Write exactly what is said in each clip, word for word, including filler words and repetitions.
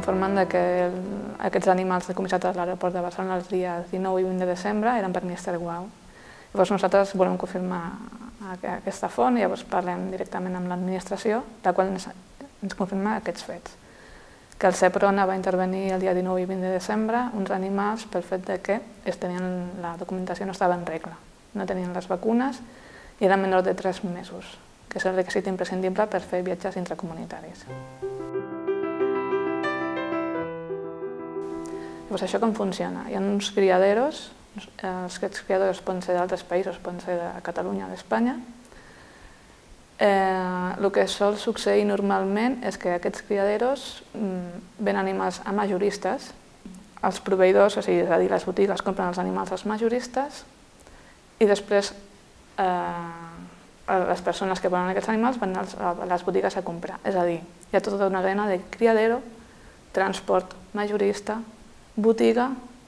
informen que aquests animals decomissats a l'aeroport de Barcelona els dies dinou i vint de desembre eren per mister Guau. Llavors nosaltres volem confirmar aquesta font i llavors parlem directament amb l'administració, la qual ens confirma aquests fets. Que el Seprona va intervenir el dia dinou i vint de desembre uns animals pel fet que la documentació no estava en regla, no tenien les vacunes i eren menors de tres mesos, que és el requisit imprescindible per fer viatges intracomunitaris. Llavors, això com funciona? Hi ha uns criaderos, els criadors poden ser d'altres països, poden ser de Catalunya o d'Espanya. El que sol succeir normalment és que aquests criaderos ven animals a majoristes, els proveïdors, és a dir, les botigues compren els animals als majoristes i després les persones que volen aquests animals van a les botigues a comprar. És a dir, hi ha tota una cadena de criadero, transport majorista, botiga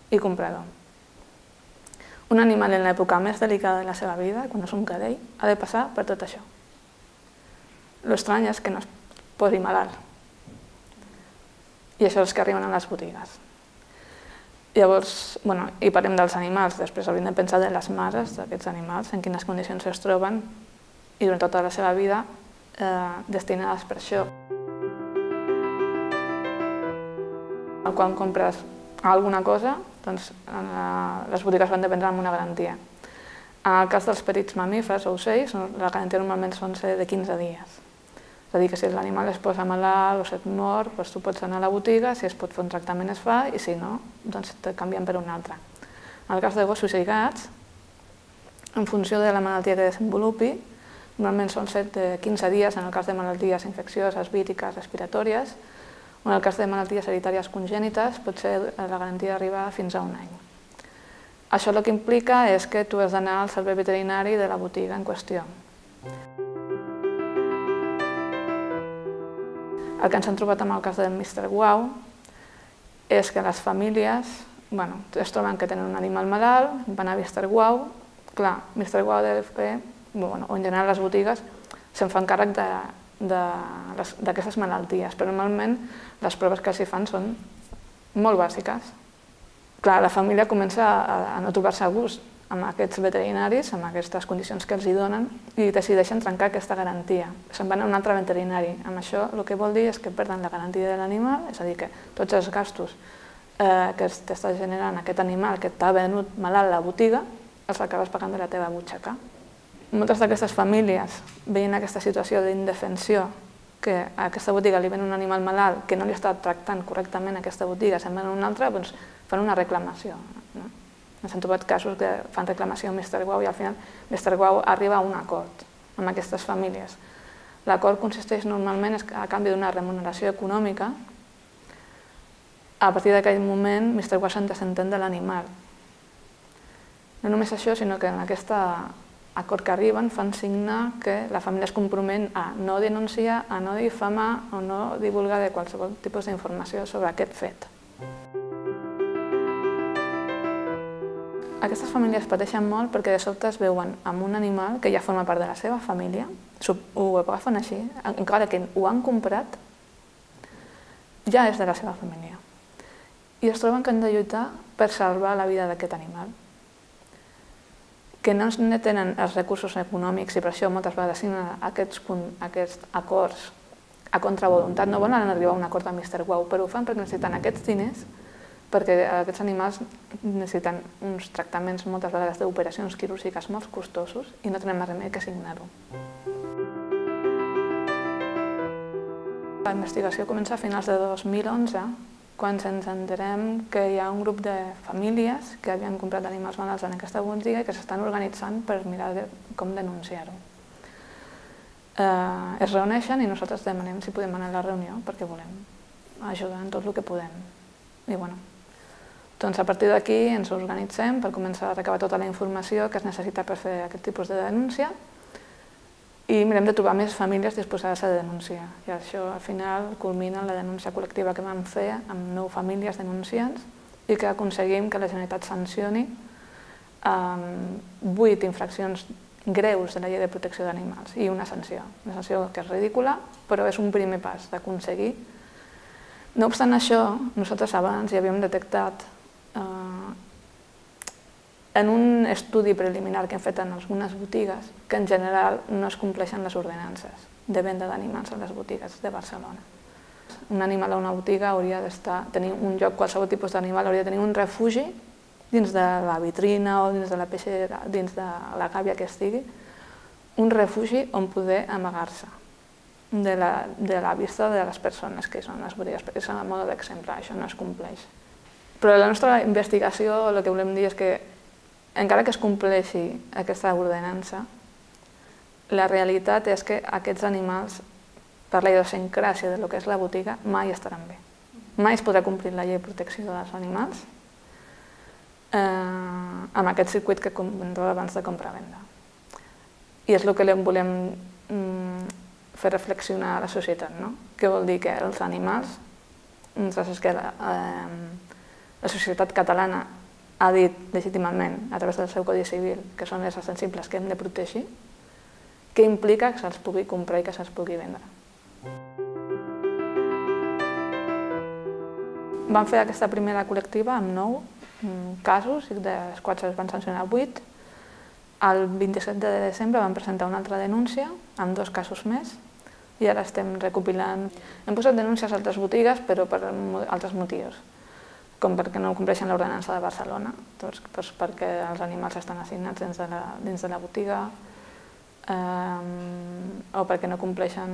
i comprador. Un animal en l'època més delicada de la seva vida, quan és un cadell, ha de passar per tot això. L'estrany és que no es posi malalt. I això és que arriben a les botigues. Llavors, bueno, i parlem dels animals, després hauríem de pensar de les mares d'aquests animals, en quines condicions es troben i durant tota la seva vida destinades per això. Quan compres alguna cosa, doncs les botigues van dependre amb una garantia. En el cas dels petits mamífers o ocells, la garantia normalment són de quinze dies. És a dir, que si l'animal es posa malalt o se't mor, doncs tu pots anar a la botiga, si es pot fer un tractament es fa i si no, doncs te canvien per un altre. En el cas de gossos i gats, en funció de la malaltia que desenvolupi, normalment són de quinze dies en el cas de malalties infeccioses, víriques, respiratòries, o en el cas de malalties hereditàries congènites pot ser la garantia d'arribar fins a un any. Això el que implica és que tu has d'anar al servei veterinari de la botiga en qüestió. El que ens hem trobat amb el cas del mister Guau és que les famílies es troben que tenen un animal malalt, van a mister Guau, clar, mister Guau deu fer, o en general les botigues, se'n fan càrrec d'aquestes malalties, però normalment les proves que els hi fan són molt bàsiques. Clar, la família comença a no trobar-se a gust amb aquests veterinaris, amb aquestes condicions que els hi donen, i decideixen trencar aquesta garantia. Se'n van a un altre veterinari. Amb això el que vol dir és que perden la garantia de l'animal, és a dir, que tots els gastos que t'està generant aquest animal que t'ha venut malalt a la botiga, els acabes pagant de la teva butxaca. Moltes d'aquestes famílies, veient aquesta situació d'indefensió, que a aquesta botiga li ven un animal malalt que no li està tractant correctament a aquesta botiga, se'n ven a una altra, doncs fan una reclamació. Ens hem trobat casos que fan reclamació a mister Guau i al final mister Guau arriba a un acord amb aquestes famílies. L'acord consisteix normalment a canvi d'una remuneració econòmica. A partir d'aquell moment, mister Guau se'n desentén de l'animal. No només això, sinó que en aquest acord que arriben fan signar que la família es compromet a no denunciar, a no difamar o no divulgar de qualsevol tipus d'informació sobre aquest fet. Aquestes famílies pateixen molt perquè de sobte es veuen amb un animal que ja forma part de la seva família, ho agafen així, encara que ho han comprat, ja és de la seva família. I es troben que han de lluitar per salvar la vida d'aquest animal. Que no tenen els recursos econòmics i per això moltes vegades signen aquests acords a contravoluntat. No volen arribar a un acord amb mister Guau, però ho fan perquè necessiten aquests diners, perquè aquests animals necessiten uns tractaments moltes vegades d'operacions quirúrgiques molt costosos i no tenen més remei que signar-ho. La investigació comença a finals de dos mil onze, quan ens enterem que hi ha un grup de famílies que havien comprat animals malalts en aquesta botiga i que s'estan organitzant per mirar com denunciar-ho. Es reuneixen i nosaltres demanem si podem anar a la reunió perquè volem ajudar en tot el que podem. I bueno, doncs a partir d'aquí ens organitzem per començar a recabar tota la informació que es necessita per fer aquest tipus de denúncia i mirem de trobar més famílies disposades a denunciar. I això al final culmina en la denúncia col·lectiva que vam fer amb nou famílies denunciants i que aconseguim que la Generalitat sancioni vuit infraccions greus de la Llei de Protecció d'Animals i una sanció. Una sanció que és ridícula, però és un primer pas d'aconseguir No obstant això, nosaltres abans ja havíem detectat eh, en un estudi preliminar que hem fet en algunes botigues que en general no es compleixen les ordenances de venda d'animals a les botigues de Barcelona. Un animal a una botiga hauria d'estar, tenir un lloc, qualsevol tipus d'animal hauria de tenir un refugi dins de la vitrina o dins de la peixera, dins de la gàbia que estigui, un refugi on poder amagar-se de la, de la vista de les persones que són les botigues, perquè és a mode d'exemple, això no es compleix. Però la nostra investigació, el que volem dir és que encara que es compleixi aquesta ordenança, la realitat és que aquests animals, per la idiosincràsia del que és la botiga, mai estaran bé. Mai es podrà complir la llei de protecció dels animals eh, amb aquest circuit que comentava abans de compra-venda. I és el que volem mm, fer reflexionar a la societat, no? Què vol dir que els animals, és que la, eh, la societat catalana ha dit legítimament, a través del seu Codi Civil, que són éssers sensibles que hem de protegir, què implica que se'ls pugui comprar i que se'ls pugui vendre. Vam fer aquesta primera col·lectiva amb nou casos, i dels quals es van sancionar vuit. El vint-i-set de desembre vam presentar una altra denúncia amb dos casos més i ara estem recopilant. Hem posat denúncies a altres botigues, però per altres motius, com perquè no compleixen l'ordenança de Barcelona, doncs, doncs perquè els animals estan assignats dins de la, dins de la botiga, eh, o perquè no compleixen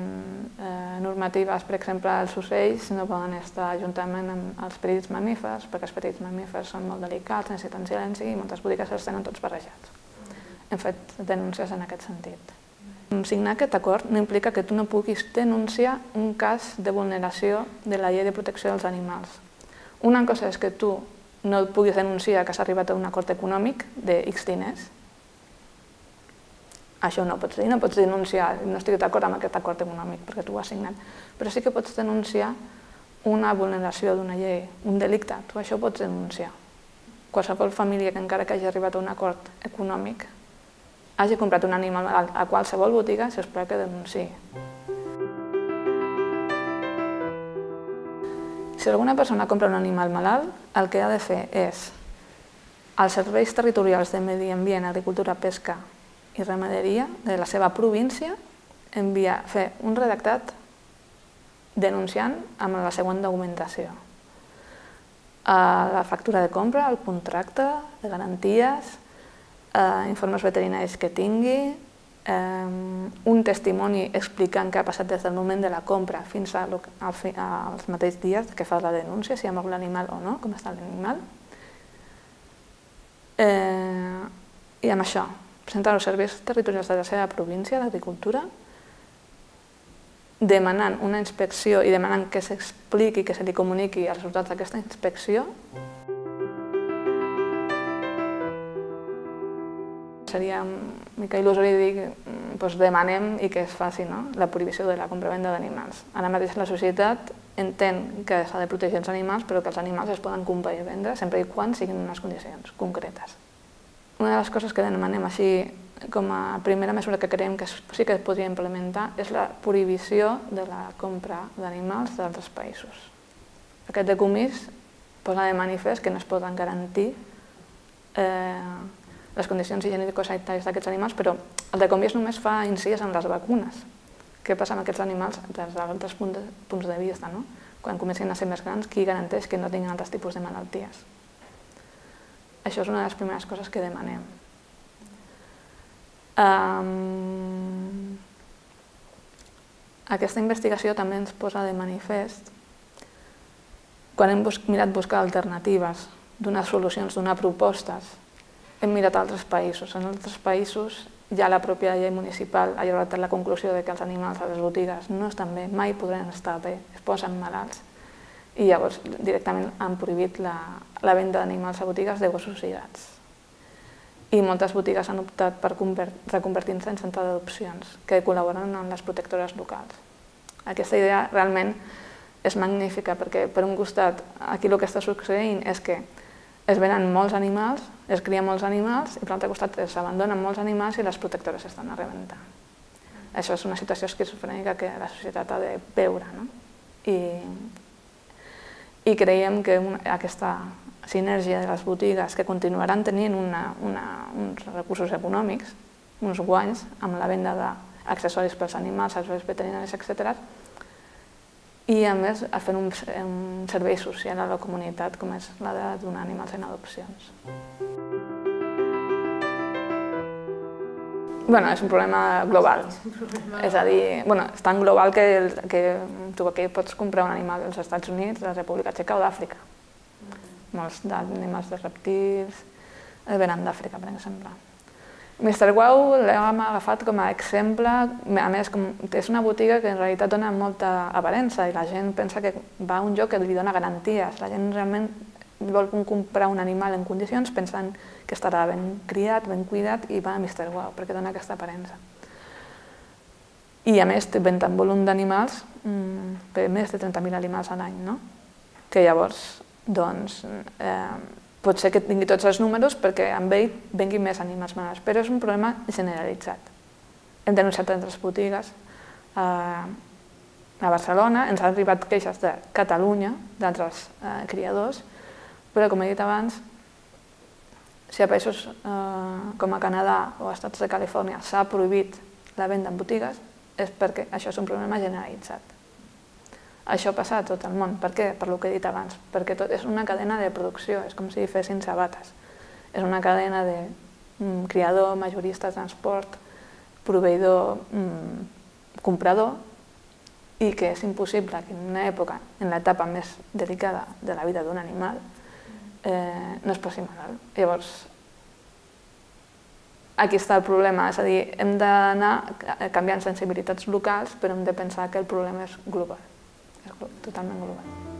eh, normatives, per exemple, els ocells no poden estar juntament amb els petits mamífers, perquè els petits mamífers són molt delicats, necessiten silenci i moltes botigues els tenen tots barrejats. Hem fet denúncies en aquest sentit. Signar aquest acord no implica que tu no puguis denunciar un cas de vulneració de la llei de protecció dels animals. Una cosa és que tu no puguis denunciar que s'ha arribat a un acord econòmic de X diners. Això no pots dir, no pots denunciar, no estic d'acord amb aquest acord econòmic perquè tu ho has signat, però sí que pots denunciar una vulneració d'una llei, un delicte, tu això pots denunciar. Qualsevol família que encara que hagi arribat a un acord econòmic hagi comprat un animal a qualsevol botiga, s'espera que denunciï. Si alguna persona compra un animal malalt, el que ha de fer és als serveis territorials de Medi Ambient, Agricultura, Pesca i Ramaderia de la seva província enviar, fer un redactat denunciant amb la següent documentació. La factura de compra, el contracte de garanties, informes veterinaris que tingui, un testimoni explicant què ha passat des del moment de la compra fins als mateixos dies que fa la denúncia, si ha mort l'animal o no, com està l'animal. I amb això, presentar els serveis territorials de la seva província d'Agricultura, demanant una inspecció i demanant que s'expliqui, que se li comuniqui els resultats d'aquesta inspecció. Seria una mica il·lusori dir que demanem i que es faci la prohibició de la compra-venda d'animals. Ara mateix la societat entén que s'ha de protegir els animals, però que els animals es poden comprar i vendre sempre i quan siguin unes condicions concretes. Una de les coses que demanem així com a primera mesura que creiem que sí que es podria implementar és la prohibició de la compra d'animals d'altres països. Aquest decomís posa de manifest que no es poden garantir les condicions higiènico-sanitàries d'aquests animals, però el decomís només fa incís en les vacunes. Què passa amb aquests animals des d'altres punts de vista? Quan comencin a ser més grans, qui garanteix que no tinguin altres tipus de malalties? Això és una de les primeres coses que demanem. Aquesta investigació també ens posa de manifest, quan hem mirat buscar alternatives, donar solucions, donar propostes, hem mirat altres països. En altres països ja la pròpia llei municipal ha arribat a la conclusió que els animals a les botigues no estan bé, mai podran estar bé, es posen malalts. I llavors directament han prohibit la venda d'animals a botigues de gossos i gats. I moltes botigues han optat per reconvertir-se en centre d'adopcions que col·laboren amb les protectores locals. Aquesta idea realment és magnífica perquè, per un costat, aquí el que està succeint és que es venen molts animals, es crien molts animals i per l'altre costat s'abandonen molts animals i les protectores estan a rebentar. Això és una situació esquizofrènica que la societat ha de veure. I I creiem que aquesta sinergia de les botigues, que continuaran tenint uns recursos econòmics, uns guanys amb la venda d'accessoris pels animals, serveis veterinaris, etcètera, i a més fent un servei social a la comunitat com és la de donar animals en adopcions. Bueno, és un problema global, és a dir, és tan global que tu aquí pots comprar un animal als Estats Units, a la República Txeca o d'Àfrica. Molts animals de reptils venen d'Àfrica, per exemple. mister Wow l'hem agafat com a exemple, a més és una botiga que en realitat dona molta aparença i la gent pensa que va a un lloc que li dona garanties. La gent realment vol comprar un animal en condicions pensant que estarà ben criat, ben cuidat i va a mister Wow perquè dona aquesta aparença. I a més ven tant volum d'animals, més de trenta mil animals a l'any, no? Que llavors, doncs, pot ser que tingui tots els números perquè amb ell venguin més animals malalts, però és un problema generalitzat. Hem denunciat altres botigues a Barcelona, ens han arribat queixes de Catalunya, d'altres criadors, però com he dit abans, si a països com a Canadà o als Estats de Califòrnia s'ha prohibit la venda en botigues, és perquè això és un problema generalitzat. Això passa a tot el món. Per què? Per el que he dit abans. Perquè és una cadena de producció, és com si fessin sabates. És una cadena de criador, majorista, transport, proveïdor, comprador, i que és impossible que en una època, en l'etapa més delicada de la vida d'un animal, no es posi malalt. Llavors, aquí està el problema, és a dir, hem d'anar canviant sensibilitats locals, però hem de pensar que el problema és global. És totalment global.